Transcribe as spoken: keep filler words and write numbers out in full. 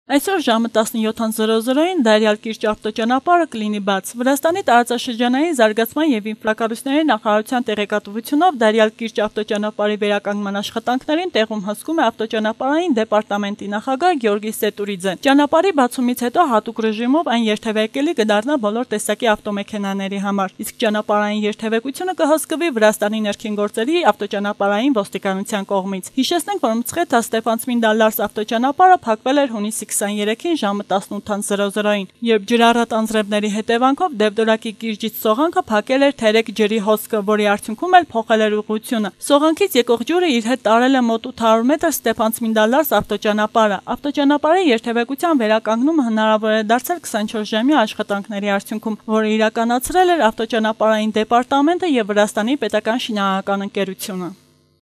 Այսօր ժամը տասնյոթին Դարյալ կիրճ ավտոճանապարհը կլինի բաց։ Վրաստանի տարածաշրջանային զարգացման և ինֆրակառույցների նախարարության տեղեկատվությունով Դարյալ կիրճ ավտոճանապարհի վերականգնման աշխատանքներին տեղում հսկում է ավտոճանապարհային դեպարտամենտի նախագահ Գեորգի Սետուրիձեն։ Ճանապարհի բացումից հետո հատուկ ռեժիմով այն երթևեկելի կդառնա բոլոր տեսակի ավտոմեքենաների համար, իսկ ճանապարհային երթևեկությունը կհսկվի Վրաստանի ներքին գործերի ավտոճանապարհային ոստիկանության կողմից։ Հիշեցնենք, որ Մցխեթա Ստեփանցմինդալարս ավտոճանապարհը փակվել էր հունիսի քսաներեքին ժամը տասնութին, երբ ջրառատ անձրևների հետևանքով Դևդորակի կիրճից Սողանքը փակել էր թերեկ ջրի հոսքը, որի արդյունքում էլ փոխել էր ուղղությունը։ Սողանքից եկող ջուրը իր հետ տարել է մոտ ութ հարյուր մետր Ստեփանցմինդալարս ավտոճանապարհը։ Ավտոճանապարհի երթևեկության վերականգնումը հնարավոր է դարձել քսանչորս ժամյա աշխատանքների արդյունքում, որը իրականացրել էր ավտոճանապարհային դեպարտամենտը և Վրաստանի պետական շինարարական ընկերությունը։